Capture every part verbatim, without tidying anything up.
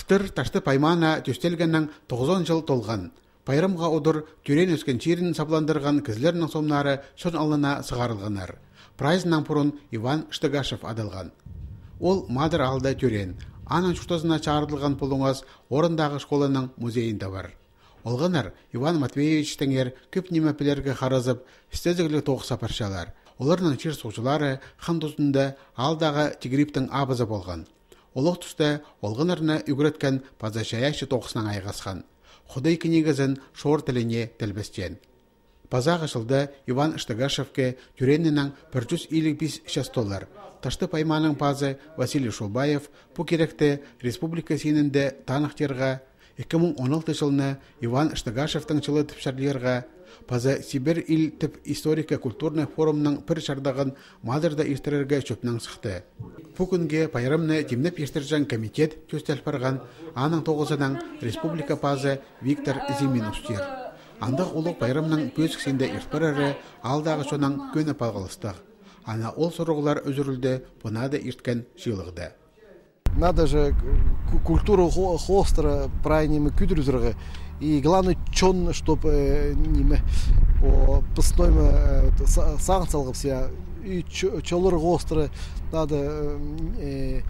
Тыр Таштып аймаана тӧстелгеннең тоғызон чыл толған. Пайрамға удур тӧреен-ӧскен чирін сабландырған кізілернің сомнары чон алнына сығарылғаннар. Прайзынаң пурун Иван Штыгашев адалған. Ол Мадар аалда тӧреен, аның чуртазына чарыдылған пулуңас орындағы школаның музейінде пар. Олғаннар Иван Матвеевичтеңер кӧп ниме пілерге харазып, істезігліг тоғыс апарчалар. Оларның чир-суғҷылары хан тузында аалдағы Тигірибтің абызы полған. Олох туста олғаннарны ӱгреткен паза чайаачы тоғыснаң айғасхан. Худай книгазын шор тіліне тілбестеен. Пазағы чылда Иван Штыгашевке тӧреенінең пір чӱс илиг пис час толар. Таштып аймааның пазы Василий Шулбаев пу киректі республика синінде таныхтирға, ікі муң он алты чылны Иван Штыгашевтің чылы тіп чарлирға, паза Сибирь ил тіп историко-культурный форумның пір чардығын Мадарда иртірерге чӧпнең сыхты. Пу кӱнге пайрамны тимнеп иртірҷең комитет тӧстел парған, аның тоғызынаң республика пазы Виктор Зимин устир. Андағ улуғ пайрамның пӧзік синде ирт парары аалдағы чоннаң кӧні палғалыстығ. Ана ол сурығлар ӱзӱрілді пу наада ирткен чыылығда. Надо же ку-, культуру хо-, хоостыра прай ниме кӱдірізерге. И главный чон, чтоб, э, ниме, о, пыстойма, э, са-, сағын салғып сия. И чо-, чоллар хоостыра надо, э,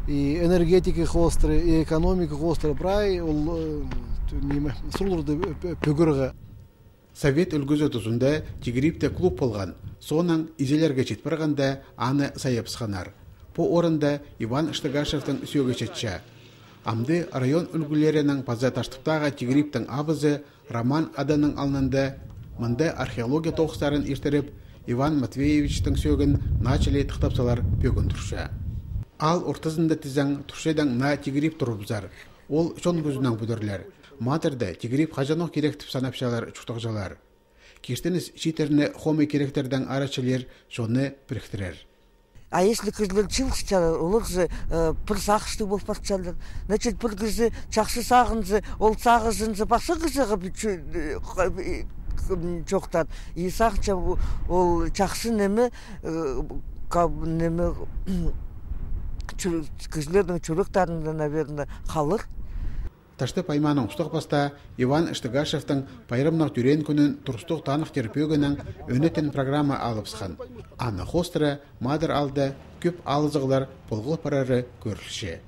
и энергетика хоостыра, и экономика хоостыра прай ол, э, ниме, сурығларды пӧ-, пӧгерге. Совет ӱлгӱзі тузында Тигірибте клуб полған, соонаң изелерге чит парғанда аны сайабысханнар. Пу орында Иван Штыгашевтің сӧӧгі чатча. Амды район ӱлгӱлерінің паза Таштыптағы Тигірибтің абызы Роман аданың алнында мында археология тоғыстарын иртіріп, Иван Матвеевичтің сӧӧгін наа чіли тыхтап салар пӧгін турча. Аал ортызында тізең турчадың наа Тигіриб турыбызар. Ол чон кӱзінең пӱдірілер. Мадарда Тигіриб хаҷанох кирек тіп санапчалар чуртағҷылар. Киртініс чииттерні хомай киректердең ара чілер, чонны піріктірер. А если кізілер чыылысчалар, олар же, э, пір сағыстығ пол парчалар. Значит, пір кізі чахсы сағынза, ол сағызынза пасха кізіге пі-, чу-, э, ха-, э, м, чоохтаан. И сағынчам, о-, ол чахсы ниме, э, ка-, ниме, чу-, кізілернің чӱректерінде, наверное, халыр. Таштып аймааның устағ-пастаа Иван Штыгашевтің пайрамнығ тӧреен кӱнін турыстығ таныхтир пӧгінең ӧнетін программа алыбысхан. Аны хоостыра Мадар аалда кӧп алызығлар полғыл парары кӧрілче.